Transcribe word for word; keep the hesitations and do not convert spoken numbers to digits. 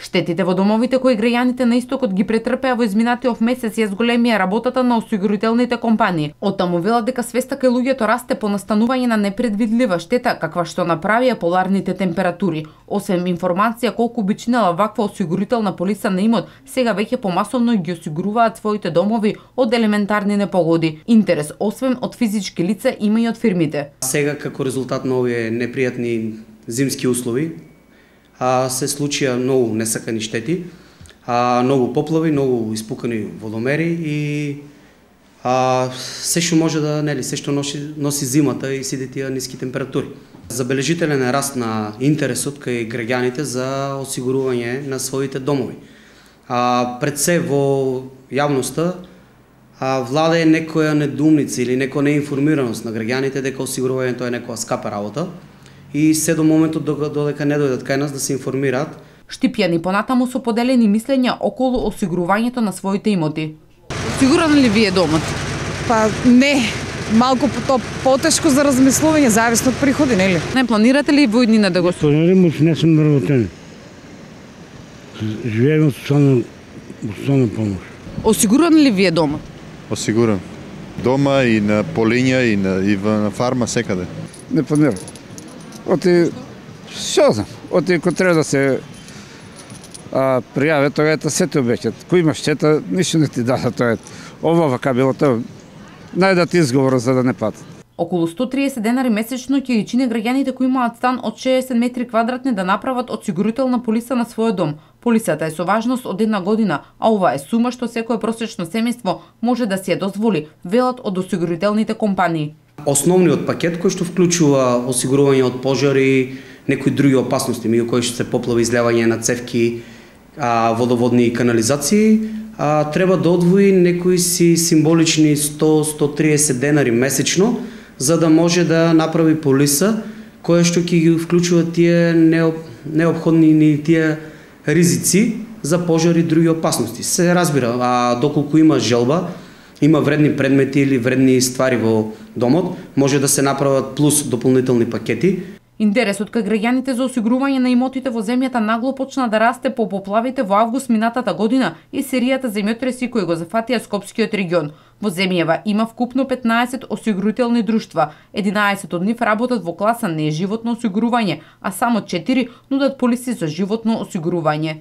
Штетите во домовите кои граѓаните на истокот ги претрпеа во изминатиот месец ја зголемија работата на осигурителните компании. Оттаму велат дека свеста кај луѓето расте по настанување на непредвидлива штета каква што направија поларните температури. Освен информација колку би чинела ваква осигурителна полиса на имот, сега веќе помасовно ги осигуруваат своите домови од елементарни непогоди. Интерес освен од физички лица има и од фирмите. Сега како резултат на овие непријатни зимски услови, а, се случија многу несакани штети, а, многу поплави, многу испукани водомери и а, се што може да, нели, се што носи, носи зимата и сите тие ниски температури. Забележителен е раст на интересот кај граѓаните за осигурување на своите домови. А, пред се во јавноста а, владае некоја недоумница или некоја неинформираност на граѓаните дека осигурувањето е некоја скапа работа и се до моментот додека не дојдат кај нас да се информираат. Штипјани понатаму со поделени мислења околу осигурувањето на своите имоти. Сигурен ли ви е домот? Па не, малку по потешко за размислување, зависно од приходи, нели? Не планирате ли во иднина да го планирам, не сум вработен. Живеем социјална социјална помош. Осигурен ли ви е домот? Осигурен. Дома и на полиња и на и на фарма секаде. Не планирам. Оти, што знам, оти кој треба да се а, пријаве, тоа ета се те обеќат. Кој има штета, ништо не ти дава тоа. Ова вака било тоа. Најдат изговор за да не патат. Околу сто триесет денари месечно ќе ги чине граѓаните кои имаат стан од шеесет метри квадратни да направат осигурителна полиса на својот дом. Полисата е со важност од една година, а ова е сума што секое просечно семејство може да си ја дозволи, велат од осигурителните компании. Основниот пакет кој што вклучува осигурување од пожари, некои други опасности, меѓу кои што се поплави, излевање на цевки, а, водоводни канализации, а, треба да одвои некои си символични сто до сто триесет денари месечно, за да може да направи полиса која што ќе ги вклучува тие неопходни ни тие ризици за пожари и други опасности. Се разбира, а доколку има желба, има вредни предмети или вредни ствари во домот, може да се направат плюс дополнителни пакети. Интересот кај граѓаните за осигурување на имотите во земјата нагло почна да расте по поплавите во август минатата година и серијата земјотреси кои го зафатија Скопскиот регион. Во земјава има вкупно петнаесет осигурителни друштва, единаесет од нив работат во класа неживотно осигурување, а само четири нудат полиси за животно осигурување.